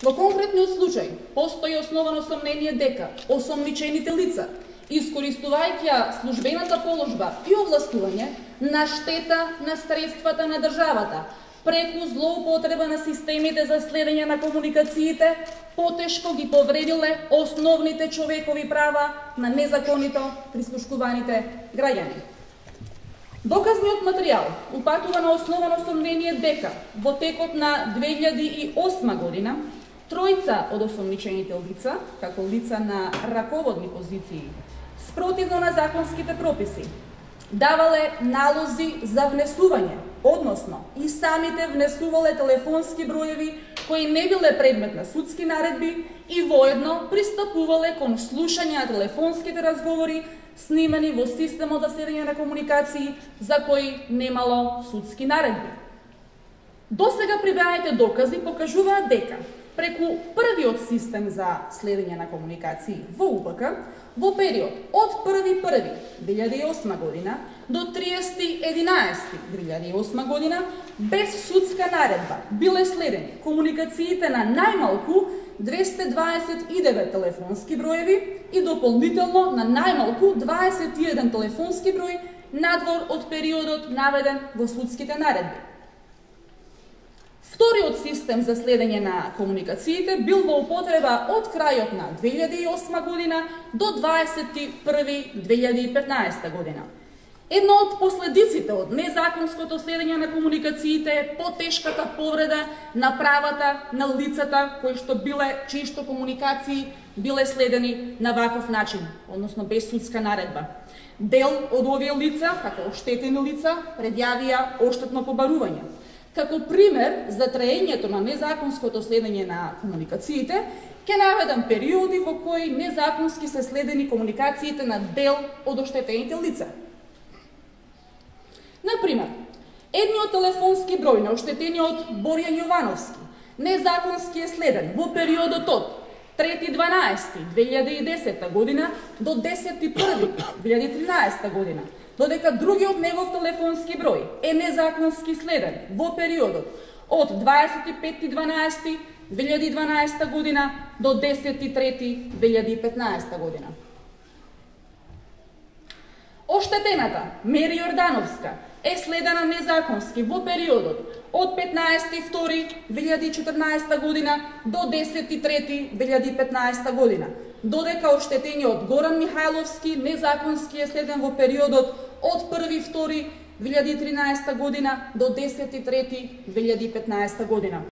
Во конкретниот случај постои основано сомнение дека осомничените лица, искористувајќи службената положба и овластување на штета на средствата на државата, преку злоупотреба на системите за следење на комуникациите, потешко ги повредиле основните човекови права на незаконито прислушкуваните граѓани. Доказниот материјал упатува на основано сомнение дека во текот на 2008 година тројца од осомничените лица, како лица на раководни позиции, спротивно на законските прописи, давале налози за внесување, односно и самите внесувале телефонски броеви кои не биле предмет на судски наредби и воедно пристапувале кон слушање на телефонските разговори снимани во системот за следење на комуникации за кои немало судски наредби. Досега прибавените докази покажуваат дека преку првиот систем за следење на комуникации во УПК, во период од 1.1.2008 година до 30.11.2008 година, без судска наредба биле следени комуникациите на најмалку 229 телефонски броеви и дополнително на најмалку 21 телефонски број надвор од периодот наведен во судските наредби. Вториот систем за следење на комуникациите бил во употреба од крајот на 2008 година до 21.2015 година. Една од последиците од незаконското следење на комуникациите е потешката повреда на правата на лицата чиишто комуникации биле следени на ваков начин, односно без судска наредба. Дел од овие лица, како оштетени лица, предјавија оштетно побарување. Како пример за траењето на незаконското следење на комуникациите, ќе наведам периоди во кои незаконски се следени комуникациите на дел од оштетените лица. Например, едниот телефонски број на оштетениот Борјан Јовановски незаконски е следен во периодот од 3.12.2010 година до 10.1.2013 година, додека другиот негов телефонски број е незаконски следен во периодот од 25.12.2012 година до 10.3.2015 година. Оштетената Мери Јордановска е следена незаконски во периодот од 15.2.2014 година до 10.3.2015 година, додека оштетениот Горан Михајловски незаконски е следен во периодот од 1.2.2013 година до 10.3.2015 година.